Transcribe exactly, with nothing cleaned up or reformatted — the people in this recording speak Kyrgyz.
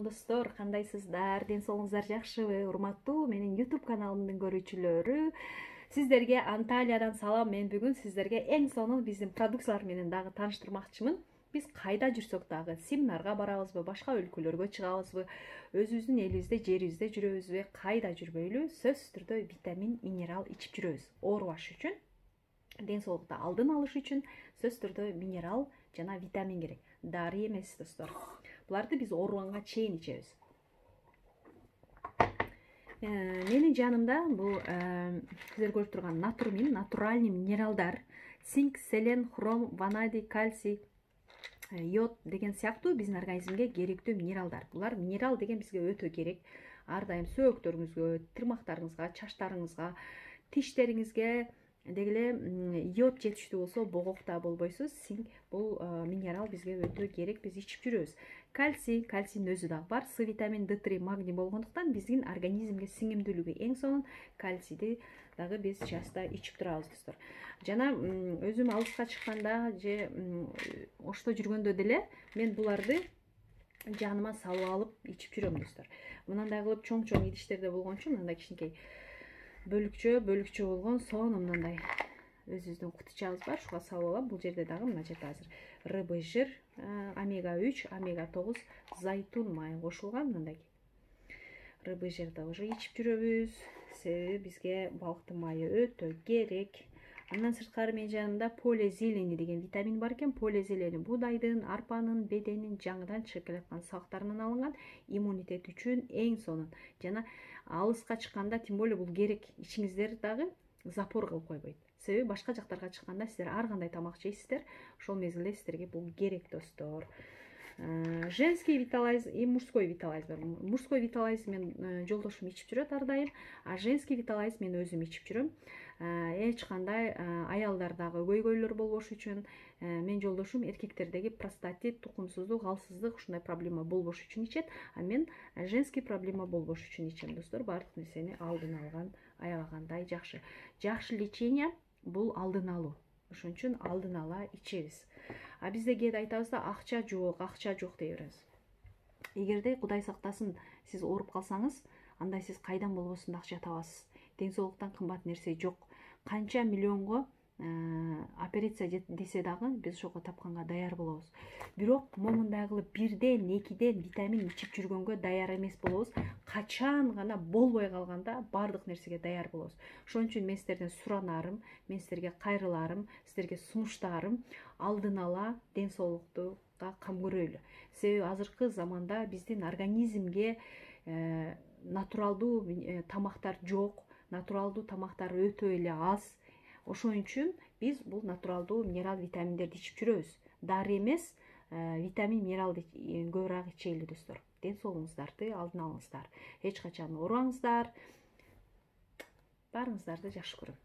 достор, кандайсыздар? Ден соолугуңуздар жакшыбы? Урматтуу менин YouTube каналымдын көрүүчүлөрү, сиздерге Анталиядан салам. Мен бүгүн сиздерге эң сонун биздин продукциялар менен дагы тааныштырмакчымын. Биз кайда жүрсөк дагы, семинарга барабызбы, башка өлкөлөргө чыгабызбы, өзүбүздүн элибизде, жерибизде жүрөбүзбү, кайда жүрбөйлү, сөзсүз түрдө витамин, минерал ичип жүрөбүз. Оорубаш үчүн, ден соолукту алдын алыш үчүн сөзсүз түрдө минерал жана витамин керек. Дары эмес, достор. Буларды биз ооруганга чейин ичебиз. Менин жанымда бул сиздер көрүп турган натурмин, натуральный минералдар, цинк, селен, хром, ванадий, кальций, йод деген сыяктуу биздин организмге керектүү минералдар. Булар минерал деген бизге өтө керек. Ар дайым сөөктөрүңүзгө, тырмактарыңызга, чачтарыңызга, тиштериңизге деги эле йод жетиштүү болсо богокта болбойсуз. Цинк бул минерал бизге өтө керек, биз ичип жүрөбүз. Кальций, кальцийдин өзү дагы бар. С витамин, Д три, магний болгондуктан биздин организмге сиңимдүүлүгү эң сонун. Кальцийди дагы биз часто ичип турабыз, достор. Жана өзүм алыска чыкканда же ошто жүргөндө деле мен буларды жаныма салып алып ичип жүрөм, достор. Мынандай кылып чоң-чоң идиштерде болгончу, мындай кичинекей бөлүкчө, бөлүкчө болгон сонун мындай өзүбүздүн кутучабыз бар, шуга салып алам. Бул жерде дагы мына жерде азыр рыбый жир, омега үч, омега тогуз, зайтун майы кошулган. Мындай рыбый жирди уже ичип жүрөбүз. Себеби бизге балыктын майы өтө керек. Андан сырткары менин жанымда полезелени деген витамин бар экен. Полезелени буудайдын, арпанын, беденин, жаңыдан чыгып келаткан сабактарынан алынган, иммунитет үчүн эң сонун. Жана алыска чыкканда тем более бул керек. Ичиңиздер дагы запор кылып койбойт. Себеби башка жактарга чыкканда сиздер ар кандай тамак жейсиздер, ошол мезгилде сиздерге бул керек, достор. Женский виталайз и мужской виталайз бар. Мужской виталайз мен жолдошум ичип жүрөт ар дайым, а женский виталайз мен өзүм ичип жүрөм. Эч кандай аялдардагы көйгөйлөр болбош үчүн, мен жолдошум эркектердеги простатит, тукумсуздук, алсыздык ушундай проблема болбош үчүн ичет, а мен женский проблема болбош үчүн ичем, достор. Баардык нерсени алдын алган, аябагандай жакшы. Жакшы лечение бул алдын алуу. Ошон үчүн алдын ала ичебиз. А бизде кээде айтабыз да, акча жок, акча жок дей беребиз. Эгерде Кудай сактасын, сиз ооруп калсаңыз, анда сиз кайдан болбосун да акча табасыз. Ден соолуктан кымбат нерсе жок. Канча миллионго операция десе дагы биз ошого тапканга даяр болобуз. Бирок момундай кылып бирден, экиден витамин ичип жүргөнгө даяр эмес болобуз. Качан гана болбой калганда баардык нерсеге даяр болобуз. Ошон үчүн мен сиздерден суранарым, мен сиздерге кайрыларым, сиздерге сунуштарым алдын ала ден соолуктуга кам көрөйлү. Себеби азыркы заманда биздин организмге натуралдуу тамактар жок, натуралдуу тамактар өтө эле аз. Ошон үчүн биз бул натуралдуу минерал витаминдерди ичип жүрөбүз. Дары эмес, витамин, минералды көбүрөөк ичели, достор. Ден соолугуңуздарды алдын алыңыздар. Эч качан оорубаңыздар. Баарыңыздарды жакшы көрөм.